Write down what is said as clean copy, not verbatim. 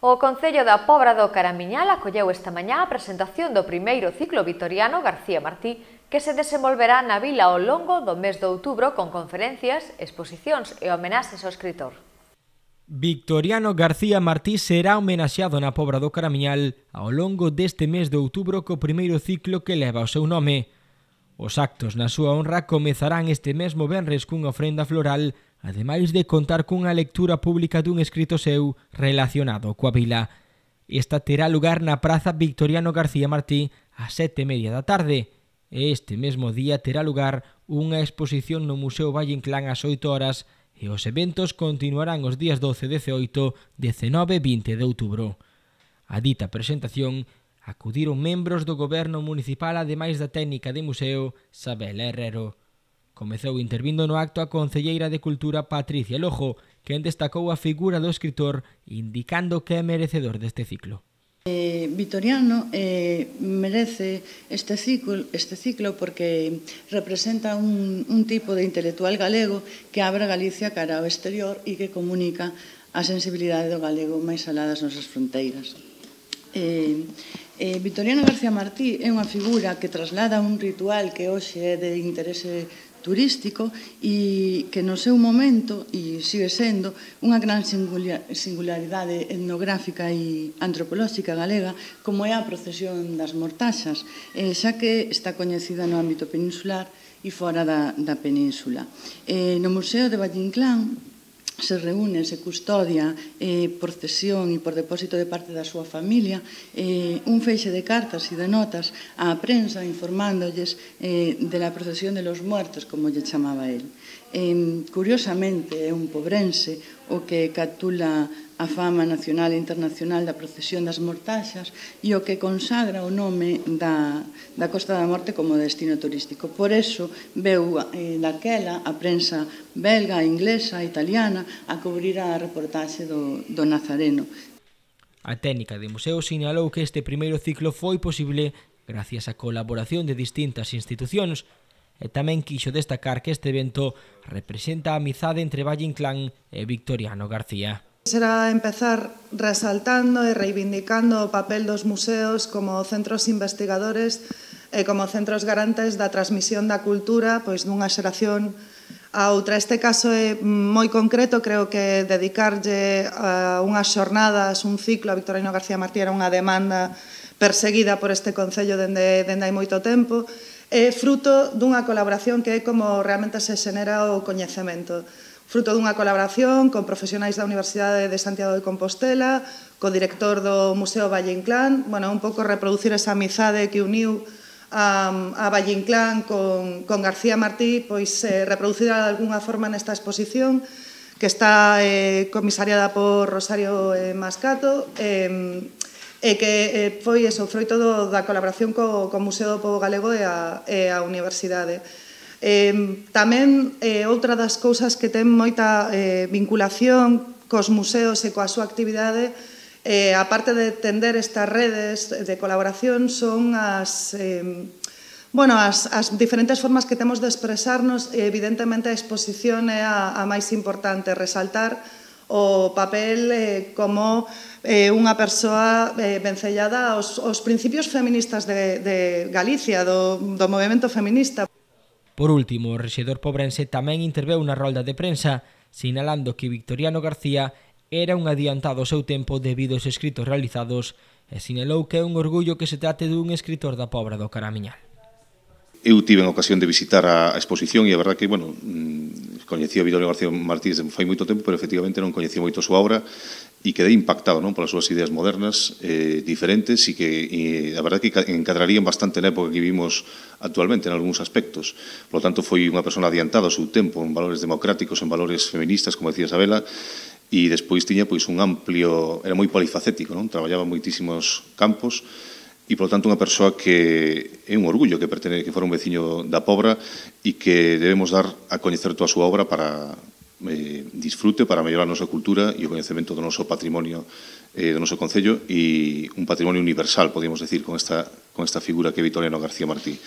O Concello da Pobra do Caramiñal acolleu esta mañá a presentación do primeiro ciclo Victoriano García Martí, que se desenvolverá na vila ao longo do mes de outubro con conferencias, exposicións e homenaxes ao escritor. Victoriano García Martí será homenaxeado na Pobra do Caramiñal ao longo deste mes de outubro co primeiro ciclo que leva o seu nome. Os actos na súa honra comezarán este mesmo venres cunha ofrenda floral, ademais de contar cunha lectura pública dun escrito seu relacionado coa vila. Esta terá lugar na Praza Victoriano García Martí ás 7:30 da tarde. Este mesmo día terá lugar unha exposición no Museo Valle Inclán ás 8 horas e os eventos continuarán os días 12, 18, 19 e 20 de outubro. A dita presentación acudiron membros do goberno municipal ademais da técnica de museo Sabela Herrero. Comezou intervindo no acto a concelleira de Cultura Patricia Lojo, quen destacou a figura do escritor indicando que é merecedor deste ciclo. Victoriano merece este ciclo porque representa un tipo de intelectual galego que abre Galicia cara ao exterior e que comunica a sensibilidade do galego máis alá das nosas fronteiras. Victoriano García Martí é unha figura que traslada un ritual que hoxe é de interese turístico e que no seu momento, e sigue sendo, unha gran singularidade etnográfica e antropolóxica galega, como é a procesión das mortaxas, xa que está coñecida no ámbito peninsular e fora da península. No Museo de Valle Inclán se reúne, se custodia por cesión e por depósito de parte da súa familia un feixe de cartas e de notas á prensa informándolles de la procesión de los muertos, como lle chamaba el. Curiosamente, é un pobrense o que captura a fama nacional e internacional da procesión das mortaxas e o que consagra o nome da Costa da Morte como destino turístico. Por eso veu daquela a prensa belga, inglesa, italiana a cubrir a reportaxe do Nazareno. A técnica de museo sinalou que este primeiro ciclo foi posible gracias á colaboración de distintas institucións e tamén quixo destacar que este evento representa a amizade entre Valle Inclán e Victoriano García. Será empezar resaltando e reivindicando o papel dos museos como centros investigadores e como centros garantes da transmisión da cultura pois dunha xeración a outra. Este caso é moi concreto, creo que dedicarlle a unhas xornadas, un ciclo a Victoriano García Martí era unha demanda perseguida por este Concello dende hai moito tempo, é fruto dunha colaboración que é como realmente se xenera o coñecemento. Fruto dunha colaboración con profesionais da Universidade de Santiago de Compostela, co director do Museo Valle Inclán, un pouco reproducir esa amizade que uniu a Valle Inclán con García Martí, pois reproducida de algunha forma nesta exposición que está comisariada por Rosario Mascato e que foi froito da colaboración co Museo do Pobo Galego e a Universidade. Tamén outra das cousas que ten moita vinculación cos museos e coa súa actividade, aparte de tender estas redes de colaboración, son as diferentes formas que temos de expresarnos e evidentemente a exposición é a máis importante, resaltar o papel como unha persoa vencellada aos principios feministas de Galicia, do movemento feminista. Por último, o rexedor pobrense tamén interveu na rolda de prensa, sinalando que Victoriano García era un adiantado ao seu tempo debido aos escritos realizados e sinalou que é un orgullo que se trate dun escritor da Pobra do Caramiñal. Eu tive a ocasión de visitar a exposición e a verdade que, coñecía a Victoriano García Martí desde fai moito tempo, pero efectivamente non coñecía moito a súa obra e quedei impactado polas súas ideas modernas, diferentes e que a verdade que encadrarían bastante na época que vivimos actualmente en algúns aspectos. Por lo tanto, foi unha persona adiantada ao seu tempo en valores democráticos, en valores feministas, como decía Isabela, e despois tiña un amplio, era moi polifacético, traballaba en moitísimos campos e, por lo tanto, unha persoa que é un orgullo que fora un veciño da Pobra e que debemos dar a coñecer toda a súa obra para disfrute, para mellorar a nosa cultura e o coñecemento do noso patrimonio do noso Concello e un patrimonio universal, podemos decir, con esta figura que é Victoriano García Martí.